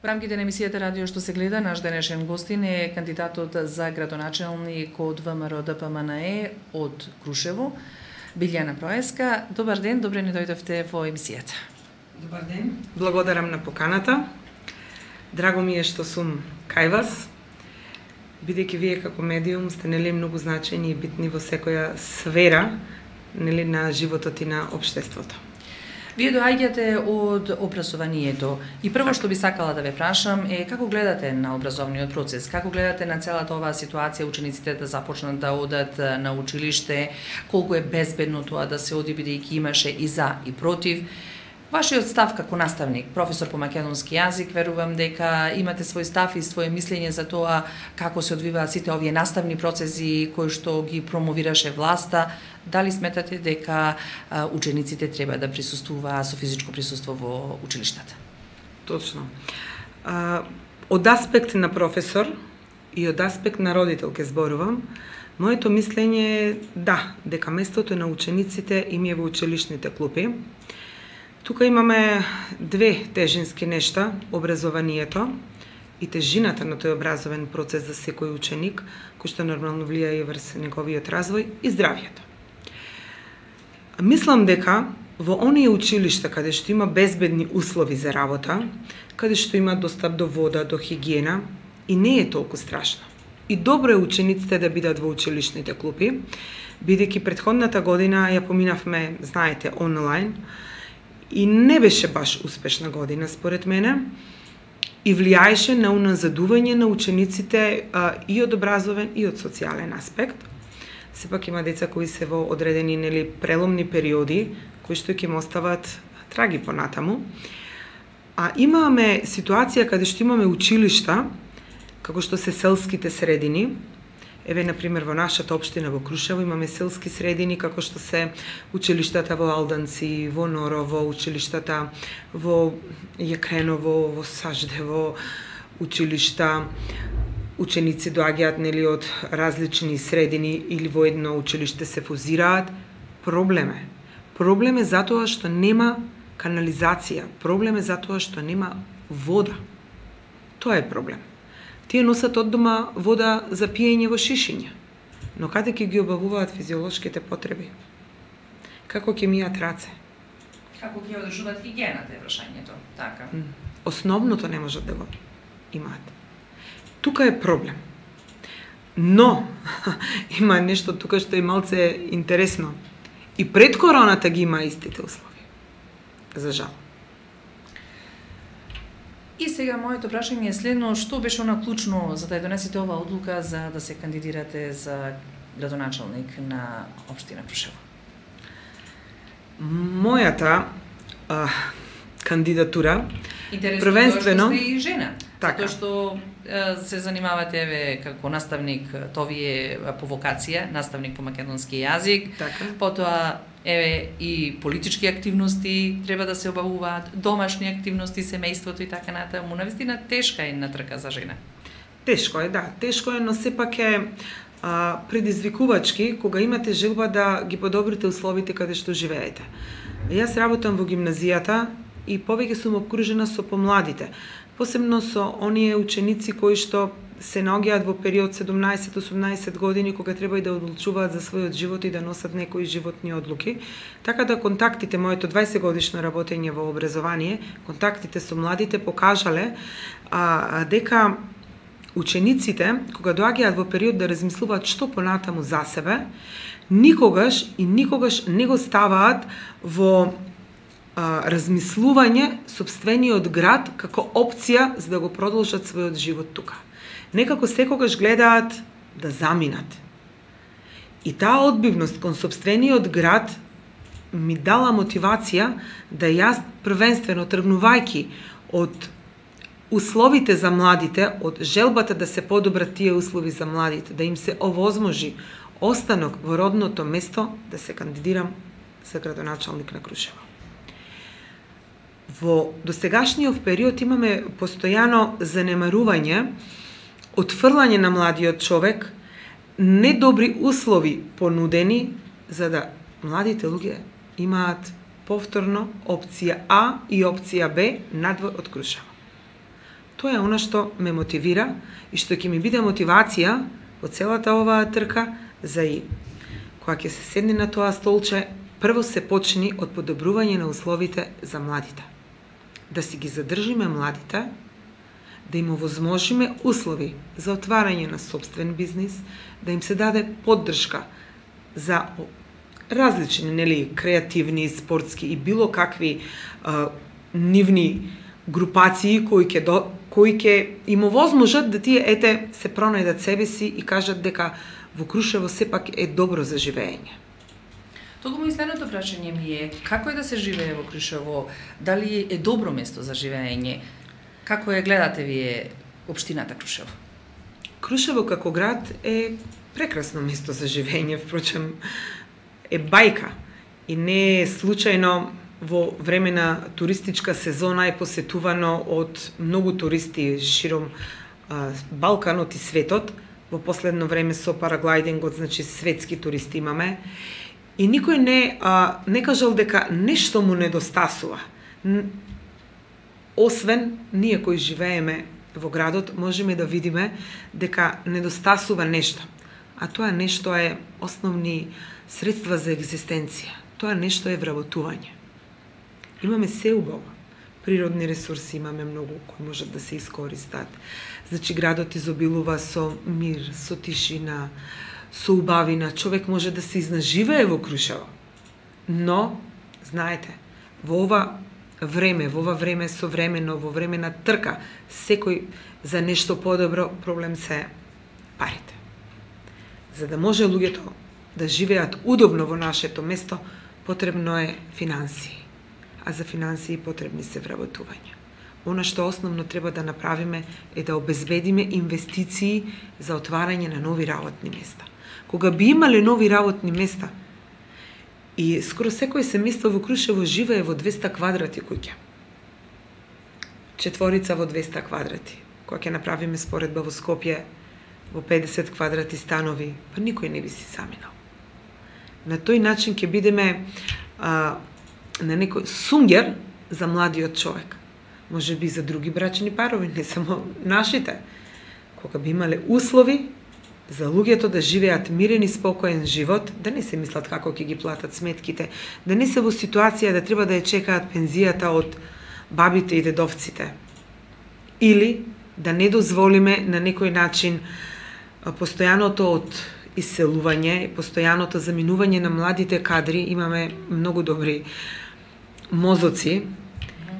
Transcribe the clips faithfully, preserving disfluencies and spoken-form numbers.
Во рамките на емисијата Радио што се гледа, наш денешен гостин е кандидатот за градоначелник од ВМРО Д П М Н Е од Крушево, Билјана Проеска. Добар ден, добре ни дојдовте во емисијата. Добар ден. Благодарам на поканата. Драго ми е што сум кај вас, бидејќи вие како медиум сте нели многу значајни и битни во секоја сфера нели на животот и на општеството. Вие доаѓате од образованието и прво што би сакала да ве прашам е како гледате на образовниот процес, како гледате на целата оваа ситуација учениците да започнат да одат на училиште, колку е безбедно тоа да се оди бидејќи имаше и за и против. Вашиот став како наставник, професор по македонски јазик, верувам дека имате свој став и своje мислење за тоа како се одвиваат сите овие наставни процеси кои што ги промовираше власта. Дали сметате дека а, учениците треба да присуствуваат со физичко присуство во училиштата? Точно. А, од аспект на професор и од аспект на родител ке зборувам, моето мислење е да, дека местото на учениците им е во училишните клупи. Тука имаме две тежински нешта, образованието и тежината на тој образовен процес за секој ученик, кој што нормално влијае врз неговиот развој и здравието. Мислам дека во оние училишта каде што има безбедни услови за работа, каде што има достап до вода, до хигиена, и не е толку страшно. И добро е учениците да бидат во училишните клупи, бидејќи претходната година ја поминавме, знаете, онлайн, и не беше баш успешна година според мене и влијаеше на уназадување на учениците а, и од образовен и од социјален аспект. Сепак има деца кои се во одредени нели преломни периоди кои што ќе им остават траги понатаму. А имаме ситуација каде што имаме училишта како што се селските средини. Еве, например, во нашата општина во Крушево имаме селски средини, како што се училиштата во Алданци, во Норово, училиштата во Јекреново, во Саждево, училишта. Ученици доаѓаат нели од различни средини или во едно училиште се фузираат. Проблем е. Проблем е затоа што нема канализација. Проблем е затоа што нема вода. Тоа е проблем. Тие носат од дома вода за пиење во шишиња, но каде ќе ги обавуваат физиолошките потреби? Како ќе мијат раце? Како ќе одржуваат хигиената е прашањето, така. Основното не можат да го имаат. Тука е проблем. Но има нешто тука што е малце интересно. И пред короната ги има истите услови. За жал. И сега моето прашање е следно, што беше она клучно за да ја донесете оваа одлука за да се кандидирате за градоначелник на општина Крушево? Мојата а, кандидатура Интересно првенствено тоа што сте и жена. Така. Затоа што е, се занимавате еве како наставник, тоа ви е по вокација, наставник по македонски јазик. Така. Потоа еве и политички активности треба да се обавуваат, домашни активности, семејството и така натаму. Навистина тешка е натрка за жена. Тешко е, да, тешко е, но сепак е а, предизвикувачки кога имате желба да ги подобрите условите каде што живеете. Јас работам во гимназијата и повеќе сум обкружена со помладите, посебно со оние ученици кои што се наоѓаат во период седумнаесет до осумнаесет години кога треба и да одлучуваат за својот живот и да носат некои животни одлуки. Така да контактите, моето дваесет годишно работење во образование, контактите со младите покажале а, дека учениците кога доаѓаат во период да размислуваат што понатаму за себе, никогаш и никогаш не го ставаат во а, размислување сопствениот град како опција за да го продолжат својот живот тука. Некако секогаш гледаат да заминат. И таа одбивност кон сопствениот град ми дала мотивација да јас првенствено тргнувајќи од условите за младите, од желбата да се подобрат тие услови за младите, да им се овозможи останок во родното место, да се кандидирам за градоначалник на Крушево. Во досегашниот период имаме постојано занемарување, отфрлање на младиот човек, недобри услови понудени за да младите луѓе имаат повторно опција А и опција Б надвор од Крушево. Тоа е она што ме мотивира и што ќе ми биде мотивација во целата оваа трка за и кога ќе се седне на тоа столче, прво се почни од подобрување на условите за младите. Да си ги задржиме младите, да им овозможиме услови за отварање на собствен бизнис, да им се даде поддршка за различни, нели, креативни, спортски и било какви а, нивни групации кои ќе до кои ќе им овозможат да тие ете се пронајдат себе си и кажат дека во Крушево сепак е добро за живење. Токму и следното прашање ми е како е да се живее во Крушево, дали е добро место за живење? Како ја гледате вие општината Крушево? Крушево како град е прекрасно место за живење, впрочем е бајка и не е случајно во време на туристичка сезона е посетувано од многу туристи широм а, Балканот и светот. Во последно време со параглайдингот, значи светски туристи имаме. И никој не, а, не кажал дека нешто му недостасува. Освен ние кои живееме во градот, можеме да видиме дека недостасува нешто. А тоа нешто е основни средства за екзистенција. Тоа нешто е вработување. Имаме се убаво. Природни ресурси имаме многу кои можат да се искористат. Значи градот изобилува со мир, со тишина, со убавина. Човек може да се изнаживее во Крушево. Но, знаете, во ова време, во ова време современо, во време на трка, секој за нешто подобро, проблем се парите. За да може луѓето да живеат удобно во нашето место, потребно е финансии. А за финансии потребни се вработување. Она што основно треба да направиме е да обезбедиме инвестиции за отварање на нови работни места. Кога би имале нови работни места, и скоро секој семејство во Крушево живее во двеста квадрати куќа. Четворица во двеста квадрати. Кога ќе направиме споредба во Скопје, во педесет квадрати станови, па никој не би си заминал. На тој начин ќе бидеме а, на некој сунгер за младиот човек. Може би за други брачни парови, не само нашите. Кога би имале услови за луѓето да живеат мирен и спокоен живот, да не се мислат како ќе ги платат сметките, да не се во ситуација да треба да ја чекаат пензијата од бабите и дедовците. Или да не дозволиме на некој начин постојаното од иселување, постојаното заминување на младите кадри. Имаме многу добри мозоци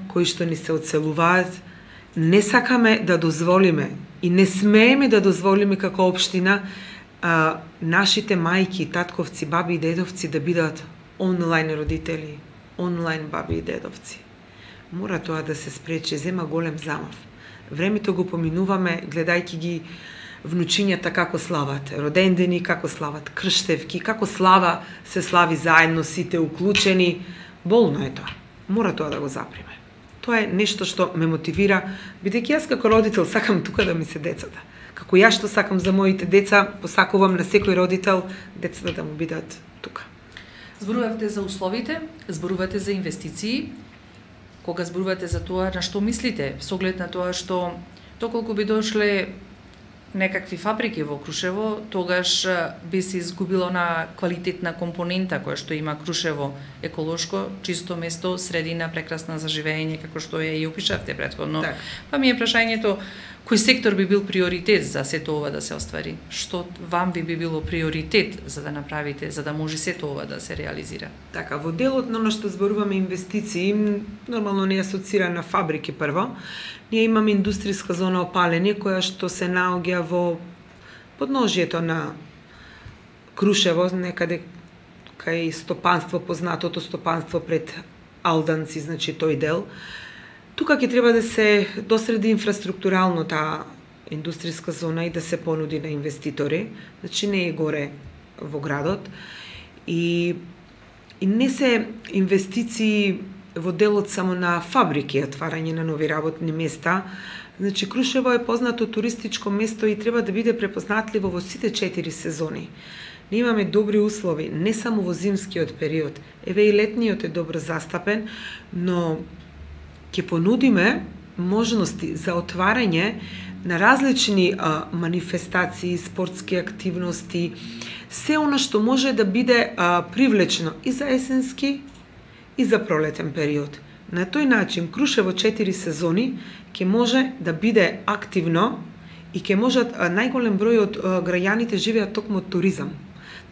кои што ни се одселуваат. Не сакаме да дозволиме и не смееме да дозволиме како општина а, нашите мајки, татковци, баби и дедовци да бидат онлайн родители, онлайн баби и дедовци. Мора тоа да се спречи, зема голем замав. Времето го поминуваме гледајќи ги внучињата како слават родендени, како слават крштевки, како слава се слави заедно, сите уклучени. Болно е тоа. Мора тоа да го заприме. Тоа е нешто што ме мотивира, бидејќи јас како родител сакам тука да ми се децата. Како ја што сакам за моите деца, посакувам на секој родител децата да му бидат тука. Зборувате за условите, зборувате за инвестиции. Кога зборувате за тоа, на што мислите? Со оглед на тоа што доколку би дошле некакви фабрики во Крушево, тогаш би се изгубило на квалитетна компонента која што има Крушево, еколошко, чисто место, средина прекрасна за живење, како што ја и опишавте претходно. Так. Па ми е прашањето, кој сектор би бил приоритет за сето ова да се оствари? Што вам би било приоритет за да направите, за да може сето ова да се реализира? Така, во делот на оно што зборуваме инвестиции, нормално не асоцира на фабрики прво. Ние имаме индустријска зона опалење која што се наоѓа во подножјето на Крушево, некаде кај стопанство, познатото стопанство пред Алданци, значи тој дел. Тука ќе треба да се досреди инфраструктурално таа индустријска зона и да се понуди на инвеститори, значи не е горе во градот. И, и не се инвестиции во делот само на фабрики, отварање на нови работни места. Значи, Крушево е познато туристичко место и треба да биде препознатливо во сите четири сезони. Ние имаме добри услови, не само во зимскиот период. Еве и летниот е добро застапен, но ќе понудиме можности за отварање на различни а, манифестации, спортски активности, се она што може да биде а, привлечно и за есенски и за пролетен период. На тој начин Крушево четири сезони ќе може да биде активно и ќе можат а, најголем број од а, граѓаните живеат токму од туризам.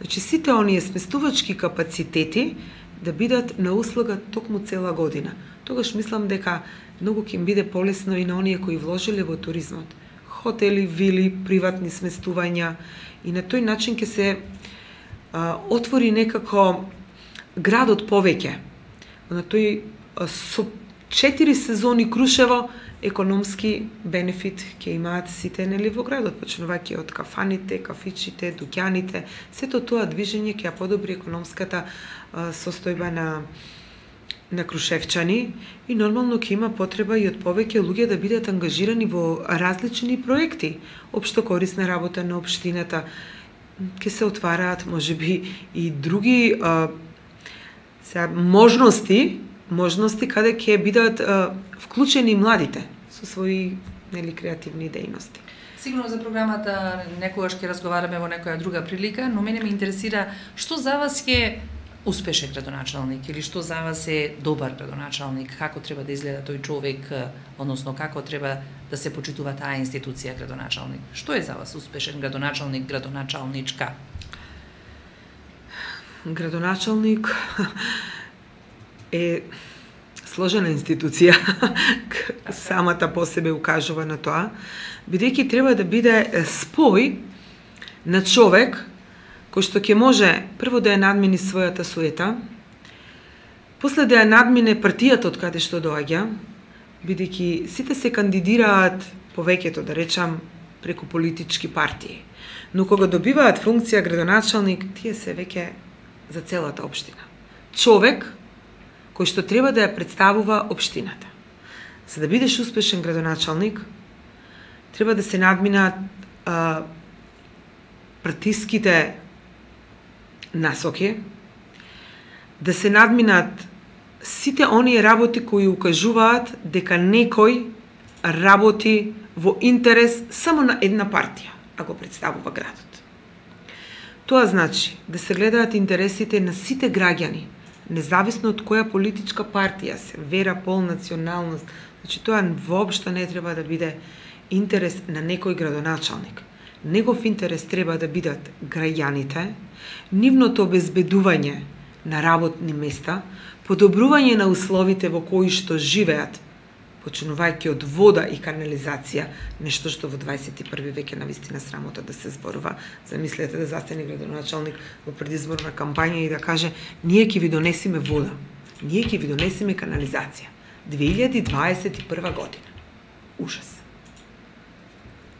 Значи сите оние сместувачки капацитети да бидат на услуга токму цела година. Тогаш мислам дека многу ќе им биде полесно и на оние кои вложиле во туризмот. Хотели, вили, приватни сместувања и на тој начин ќе се а, отвори некако градот повеќе. На тој а, со четири сезони Крушево економски бенефит ќе имаат сите нели во градот, почнувајќи од кафаните, кафичите, дуќаните, сето тоа движење ќе ја подобри економската а, состојба на на крушевчани и нормално ќе има потреба и од повеќе луѓе да бидат ангажирани во различни проекти, општо корисна работа на општината. Ќе се отвараат можеби и други а, сега, можности, можности каде ќе бидат а, вклучени младите со своји нели креативни дејности. Сигурно за програмата некогаш ќе разговараме во некоја друга прилика, но мене ме интересира што за вас е успешен градоначалник или што за вас е добар градоначалник, како треба да изгледа тој човек, односно како треба да се почитува таа институција градоначалник. Што е за вас успешен градоначалник, градоначалничка? Градоначалник е сложена институција, самата по себе укажува на тоа, бидејќи треба да биде спој на човек кој што ќе може прво да ја надмини својата суета, после да ја надмине партијата од каде што доаѓа, бидејќи сите се кандидираат повеќето, да речам, преку политички партии. Но кога добиваат функција градоначалник, тие се веќе за целата општина. Човек кој што треба да ја представува општината. За да бидеш успешен градоначалник, треба да се надминат а, партиските насоки, да се надминат сите оние работи кои укажуваат дека некој работи во интерес само на една партија, ако представува градот. Тоа значи да се гледаат интересите на сите граѓани, независно од која политичка партија се, вера, пол, националност. Значи тоа воопшто не треба да биде интерес на некој градоначалник. Негов интерес треба да бидат граѓаните, нивното обезбедување на работни места, подобрување на условите во кои што живеат, почнувајќи од вода и канализација, нешто што во дваесет и први век е навистина срамота да се зборува. Замислете да застане градоначалник во предизборна кампања и да каже: ние ќе ви донесиме вода, ние ќе ви донесиме канализација. две илјади дваесет и прва година. Ужас.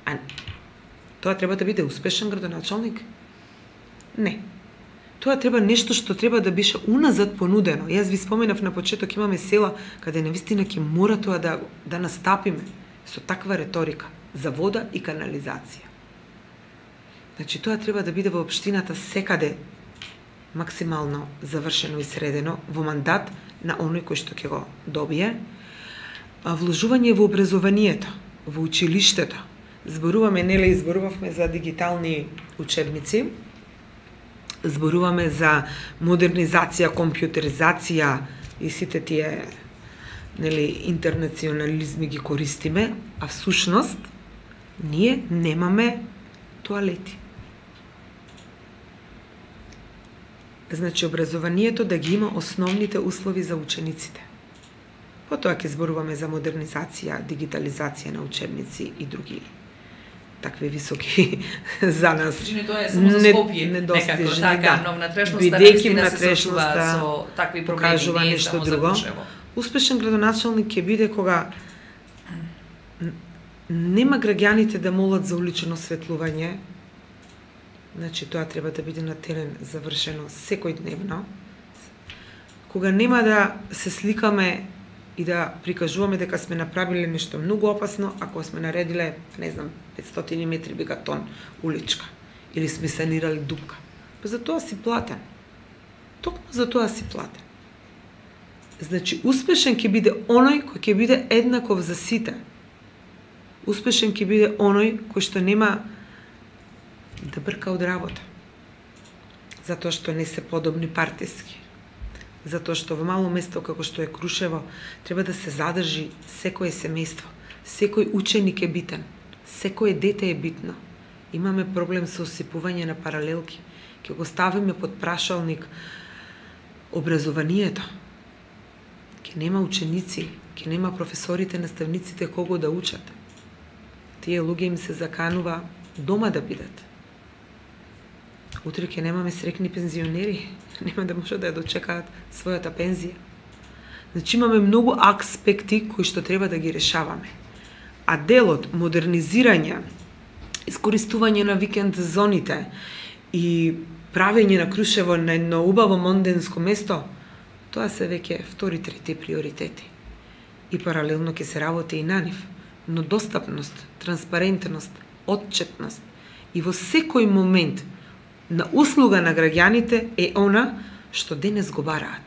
А тоа треба да биде успешен градоначалник? Не. Тоа треба нешто што треба да беше уназад понудено. Јас ви споменав на почеток, имаме села каде навистина ќе мора тоа да, да настапиме со таква реторика за вода и канализација. Значи тоа треба да биде во општината секаде максимално завршено и средено во мандат на оној кој што ќе го добие. А вложување во образованието, во училиштето. Зборуваме, нели, зборувавме за дигитални учебници, зборуваме за модернизација, компјутеризација и сите тие, нели, интернационализми ги користиме, а всушност ние немаме тоалети. Значи образованието да ги има основните услови за учениците. Потоа ќе зборуваме за модернизација, дигитализација на учебници и други такви високи за нас. Значи тоа е само за Скопје, некако така, да. но внатрешноста бидејќи наистина се сочува внатрешноста со такви проблеми, покажува не е нешто само за друго. Крушево. Успешен градоначалник ќе биде кога нема граѓаните да молат за улично осветлување. Значи тоа треба да биде на терен завршено секојдневно. Кога нема да се сликаме и да прикажуваме дека сме направиле нешто многу опасно, ако сме наредиле, не знам, петстотини метри бегатон уличка, или сме санирали дупка. Па за тоа си платен. Токму за тоа си платен. Значи, успешен ќе биде оној кој ќе биде еднаков за сите. Успешен ќе биде оној кој што нема да брка од работа. Затоа што не се подобни партиски. Затоа што во мало место како што е Крушево треба да се задржи секое семејство. Секој ученик е битен. Секое дете е битно. Имаме проблем со осипување на паралелки. Ќе го ставиме под прашалник образованието. Ќе нема ученици, ќе нема професорите, наставниците кого да учат. Тие луѓе им се заканува дома да бидат. Утре ќе немаме срекни пензионери, нема да може да ја дочекаат својата пензија. Значи имаме многу аспекти кои што треба да ги решаваме. А делот модернизирање, искористување на викенд зоните и правење на Крушево на едно убаво монденско место, тоа се веќе втори, трети приоритети. И паралелно ќе се работи и на нив. Но достапност, транспарентност, отчетност и во секој момент на услуга на граѓаните е она што денес го бараат.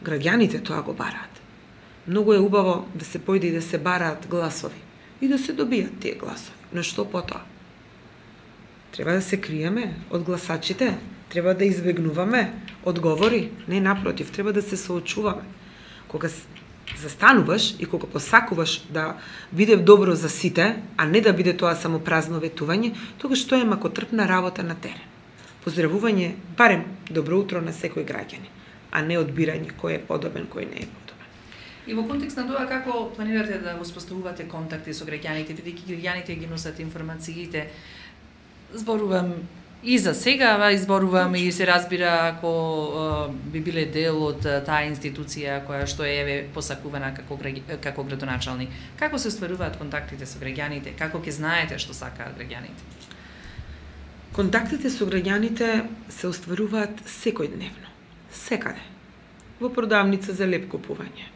Граѓаните тоа го бараат. Многу е убаво да се појде и да се бараат гласови и да се добијат тие гласови. Но што потоа? Треба да се криеме од гласачите, треба да избегнуваме одговори, не напротив, треба да се соочуваме. Кога застануваш и кога посакуваш да биде добро за сите, а не да биде тоа само празно ветување, тогаш тоа е макотрпна работа на терен. Поздравување, барем добро утро на секој граѓанин, а не одбирање кој е подобен, кој не е подобен. И во контекст на тоа, како планирате да воспоставувате контакти со граѓаните, бидејќи граѓаните ги носат информациите? Зборувам и за сега, ва изборувам и се разбира ако uh, би биле дел од таа институција која што е еве посакувана како како градоначалник. Како се остваруваат контактите со граѓаните? Како ќе знаете што сакаат граѓаните? Контактите со граѓаните се остваруваат секојдневно, секаде. Во продавница за леп купување,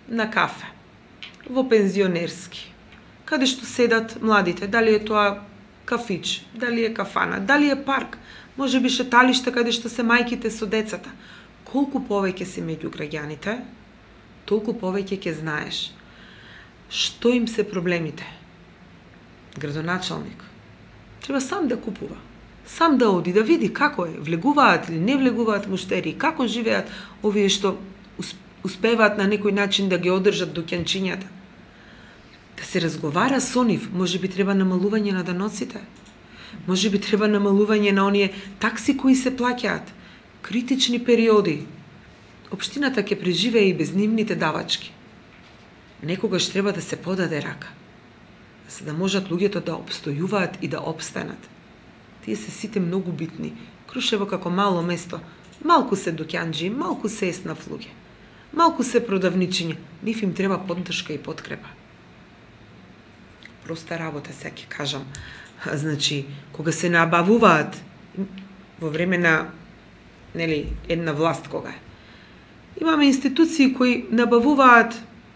на кафе, во пензионерски, каде што седат младите, дали е тоа кафич, дали е кафана, дали е парк, може би шеталиште каде што се мајките со децата. Колку повеќе си меѓу граѓаните, толку повеќе ќе знаеш што им се проблемите. Градоначалник треба сам да купува, сам да оди да види како е, влегуваат или не влегуваат муштери, како живеат овие што успеваат на некој начин да ги одржат доќанчињата. Да се разговара со нив, може би треба намалување на даноците, може би треба намалување на оние такси кои се плаќаат, критични периоди. Општината ќе преживее и без нивните давачки. Некогаш треба да се подаде рака, за да можат луѓето да обстојуваат и да обстанат. Тие се сите многу битни. Крушево како мало место, малку се доќанџи, малку се еснав луѓе, малку се продавничиња, нив им треба поддршка и подкрепа. Проста работа, сега ќе кажам. Значи, кога се набавуваат во време на нели една власт кога е. Имаме институции кои набавуваат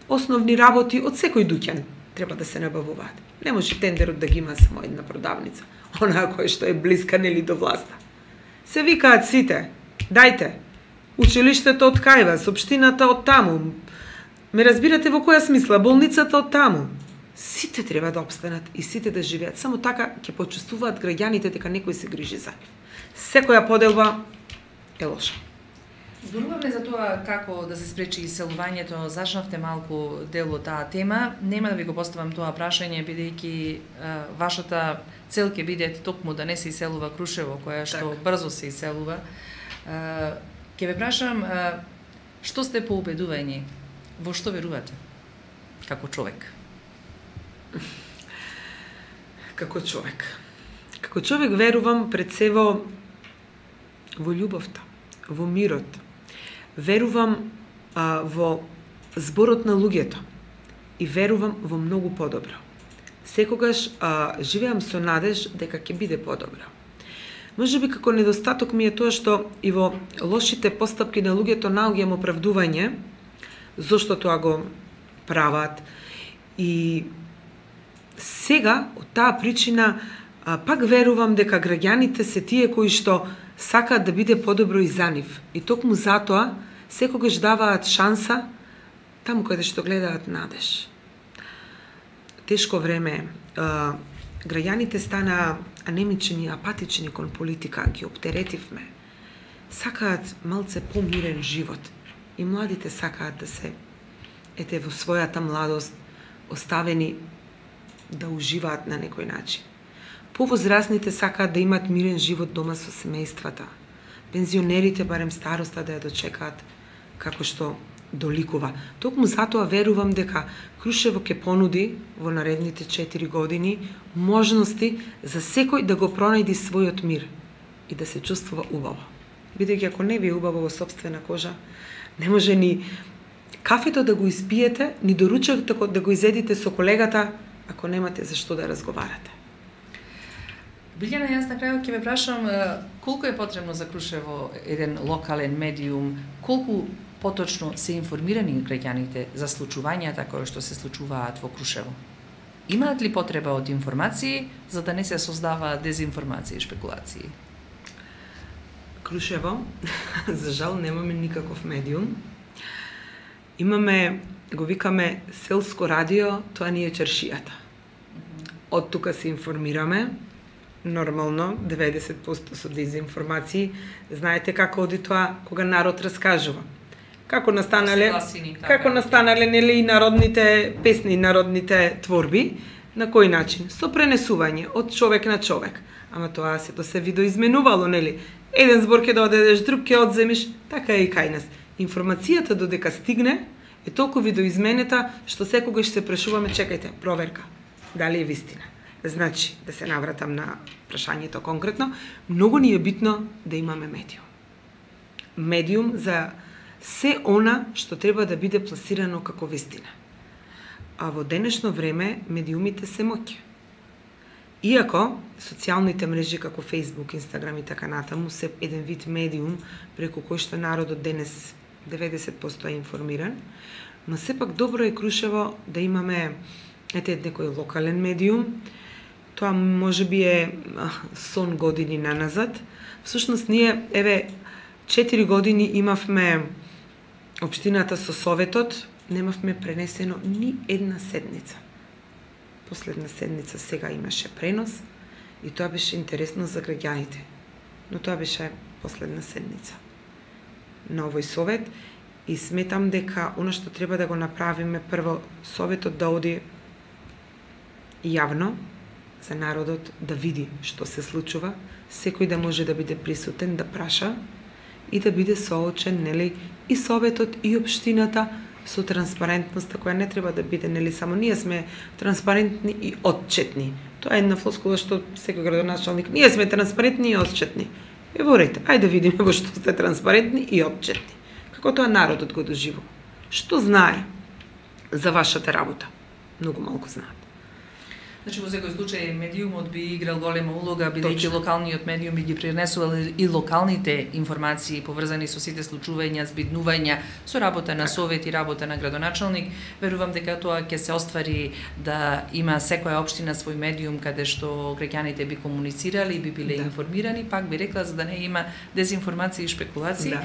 основни работи од секој дуќан. Треба да се набавуваат. Не може тендерот да ги има само една продавница, онаа која што е блиска нели до власта. Се викаат сите, дајте, училиштето од кај вас, општината од таму. Ме разбирате во која смисла, болницата од таму. Сите треба да обстанат и сите да живеат. Само така ќе почувствуваат граѓаните дека некој се грижи за нив. Секоја поделба е лоша. Зборуваме за тоа како да се спречи иселувањето, зачнавте малку дел од таа тема. Нема да ви го поставам тоа прашање, бидејќи вашата цел ќе биде токму да не се иселува Крушево, која што так. брзо се иселува. Ќе ве прашам, што сте поубедување, во што верувате како човек? Како човек. Како човек верувам пред се во, во љубовта, во мирот. Верувам а, во зборот на луѓето и верувам во многу подобро. Секогаш а, живеам со надеж дека ќе биде подобро. Може би како недостаток ми е тоа што и во лошите постапки на луѓето наоѓам оправдување зошто тоа го прават. И сега, од таа причина, пак верувам дека граѓаните се тие кои што сакаат да биде подобро и за нив. И токму затоа секогаш даваат шанса таму каде што гледаат надеж. Тешко време, граѓаните стана анемични, апатични кон политика, ги оптеретивме. Сакаат малце помирен живот. И младите сакаат да се, ете, во својата младост, оставени да уживаат на некој начин. Повозрастните сакаат да имаат мирен живот дома со семејствата. Пензионерите барем староста да ја дочекаат како што доликува. Токму затоа верувам дека Крушево ќе понуди во наредните четири години можности за секој да го пронајди својот мир и да се чувствува убаво. Бидејќи ако не ви е убаво во сопствена кожа, не може ни кафето да го испиете, ни доручак да го изедите со колегата, ако немате за што да разговарате. Билјана, јас на крајот ќе ве прашам колку е потребно за Крушево еден локален медиум, колку поточно се информирани граѓаните за случувањата кои што се случуваат во Крушево? Имаат ли потреба од информации за да не се создава дезинформации и шпекулации? Крушево, за жал, немаме никаков медиум. Имаме, го викаме селско радио, тоа ни е чаршијата. Од тука се информираме, нормално, деветдесет проценти со дезинформации. Знаете како оди тоа кога народ раскажува. Како настанале, како настанале нели и народните песни, народните творби, на кој начин? Со пренесување од човек на човек. Ама тоа сето се видоизменувало, нели? Еден збор ќе да одедеш, друг ќе одземиш, така е и кај нас. Информацијата додека стигне е толку видоизменета што секогаш се прашуваме, чекајте, проверка, дали е вистина. Значи, да се навратам на прашањето конкретно, многу ни е битно да имаме медиум. Медиум за се она што треба да биде пласирано како вистина. А во денешно време медиумите се моќ. Иако социјалните мрежи како Facebook, Instagram и така натаму се еден вид медиум преку кој што народот денес деветдесет проценти е информиран, но сепак добро е Крушево да имаме ете некој локален медиум. Тоа можеби е сон години наназад. Всушност ние еве четири години имавме општината со советот, немавме пренесено ни една седница. Последна седница сега имаше пренос и тоа беше интересно за граѓаните. Но тоа беше последна седница на овој совет и сметам дека она што треба да го направиме прво советот да оди јавно за народот да види што се случува, секој да може да биде присутен, да праша и да биде соочен, нели, и советот и општината со транспарентноста која не треба да биде, нели, само ние сме транспарентни и отчетни. Тоа е една флоскула што секој градоначалник, ние сме транспарентни и отчетни. Еворете, ајде да видиме во што сте транспарентни и отчетни. Како тоа народот го доживува? Што знае за вашата работа? Многу малку знаат. Значи, во секој случај, медиумот би играл голема улога, бидејќи локалниот медиум би ги пренесувал и локалните информации поврзани со сите случувања, збиднувања, со работа на совет и работа на градоначалник. Верувам дека тоа ќе се оствари да има секоја општина свој медиум каде што граѓаните би комуницирали, би биле да. информирани, пак би рекла за да не има дезинформации и шпекулации. Да.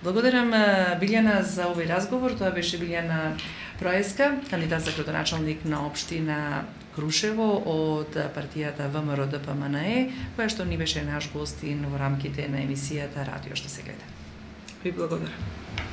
Благодарам Билјана за овој разговор. Тоа беше Билјана Проеска, кандидат за градоначалник на општина Крушево од партијата ВМРО-ДПМНЕ, која што ни беше наш гостин во рамките на емисијата Радио што се гледа. Ви благодарам.